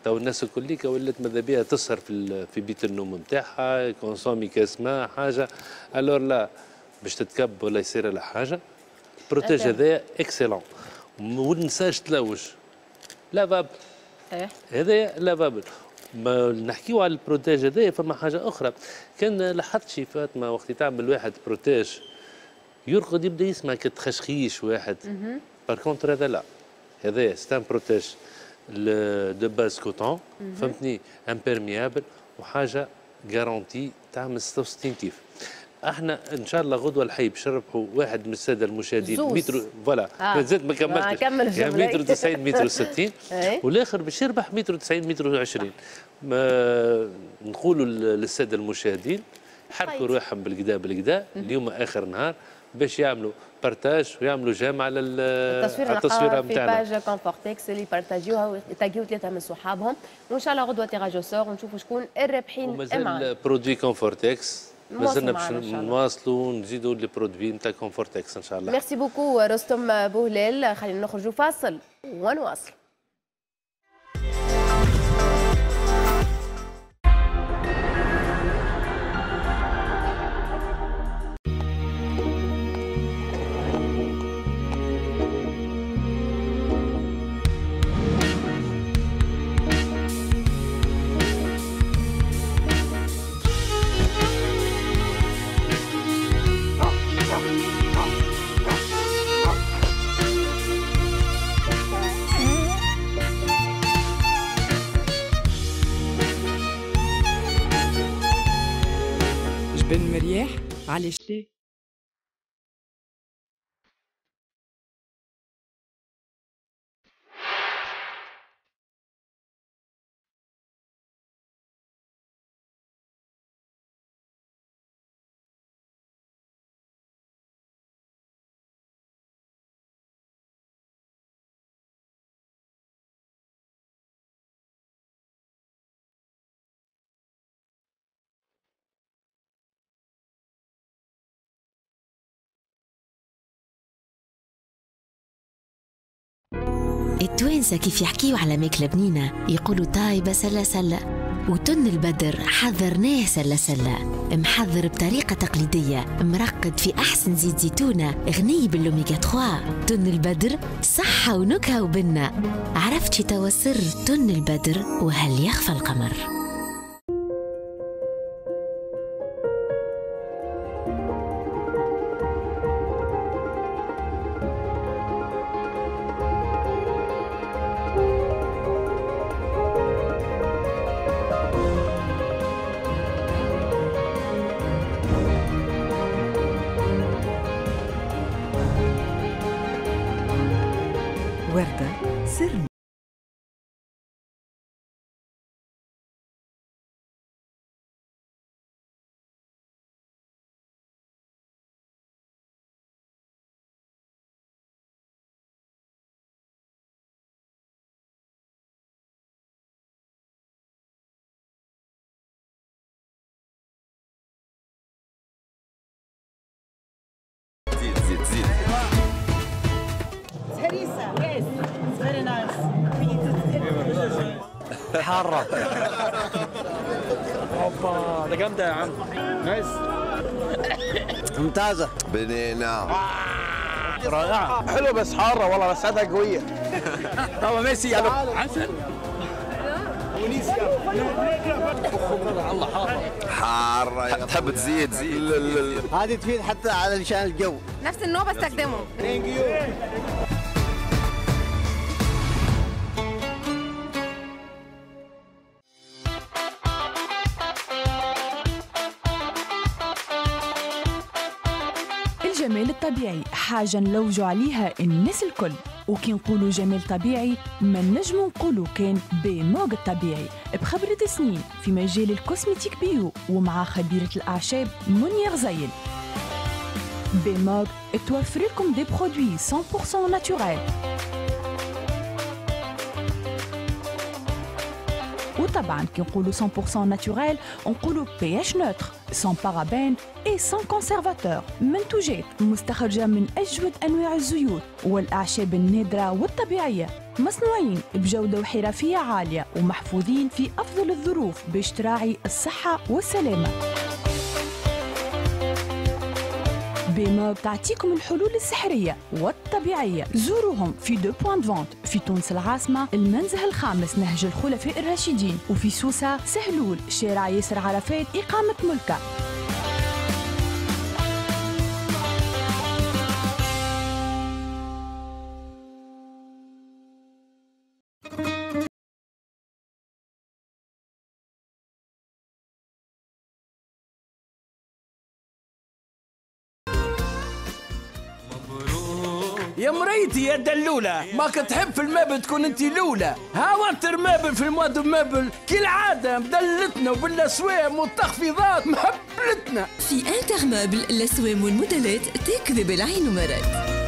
تو الناس الكل ولات ماذا بها تسهر في في بيت النوم نتاعها، consommer كاس ماء حاجة، alors لا باش تتكب ولا يصير لها حاجة. ال protège هذايا excellent، وما ننساش تلوج lavable. هذايا lavable. ما نحكيو على ال protège هذايا فما حاجة اخرى، كان لاحظت شي فاطمة وقت تعمل واحد protège يرقد يبدا يسمع كتخشخيش واحد. par contre هذا لا، هذايا c'est un protège de base coton، فهمتني، imperméable وحاجه garantie تعمل ستة وستين كيف. احنا ان شاء الله غدوه الحي باش نربحوا واحد من السادة المشاهدين متر voilà آه. مازلت ما كملتش يعني متر تسعين متر وستين والاخر باش يربح متر وتسعين متر وعشرين. نقولوا للسادة المشاهدين حركوا روحهم بالكدا بالكدا، اليوم اخر نهار باش يعملوا partage ويعملوا j'aime على التصوير التصويره نتاعنا في page Confortex اللي بارتاجيوها وتاجيو ثلاثة من صحابهم، وان شاء الله غدوه tirage au sort ونشوفوا شكون الرابحين. ومازال produit Confortex مازلنا باش نواصلوا ونزيدوا les produits نتاع Confortex ان شاء الله. merci beaucoup رستم بوهلال، خلينا نخرجوا فاصل ونواصل. بن مرياح علاش ليه؟ التوانسة كيف يحكيوا على ماكلة بنينة يقولوا طايبة سلة سلة، وتن البدر حذرناه سلة سلة، محضر بطريقة تقليدية، مرقد في أحسن زيت زيتونة، غني بالأوميغا ثلاثة. تن البدر صحة ونكهة وبنة. عرفتي توا سر تن البدر وهل يخفى القمر؟ وردة سر زيد زيد زيد هريسة. Yes, it's very nice. حارة. اوبا ده جامدة يا عم. nice. ممتازة. بنينه. رائعة. حلوة بس حارة والله، بس عادها قوية. طبعا ميسي يعني عسل. الله حارة. حارة تحب تزيد زيد. هذه تفيد حتى على شان الجو. نفس النوع بستخدمه. thank you. الجمال الطبيعي حاجة نلوجوا عليها الناس الكل، وكي نقولوا جمال طبيعي ما نجموا نقولوا كان بموج الطبيعي بخبرة سنين في مجال ال cosmétique bio ومع خبيرة الأعشاب منيا غزيل. بموج توفر لكم des produits مية بالمية naturels، وطبعا كي نقولوا مية بالمية naturel نقولوا pH neutre، sans parabènes et sans conservateur. منتوجات مستخرجة من أجود أنواع الزيوت والأعشاب النادرة والطبيعية، مصنوعين بجودة وحرفية عالية ومحفوظين في أفضل الظروف باش تراعي الصحة والسلامة. بيموب تعطيكم الحلول السحرية والطبيعية. زوروهم في deux points de vente في تونس العاصمة، المنزه الخامس نهج الخلفاء الراشدين، وفي سوسة سهلول شارع ياسر عرفات إقامة ملكة. يا مريتي يا دلولة، ما تحب في ال meuble تكون انت الاولى. ها وانتر meuble في ال mois du meuble كالعادة مدلتنا وبالاسوام والتخفيضات مهبلتنا. في انتر meuble الاسوام والموديلات تكذب العين ومرات.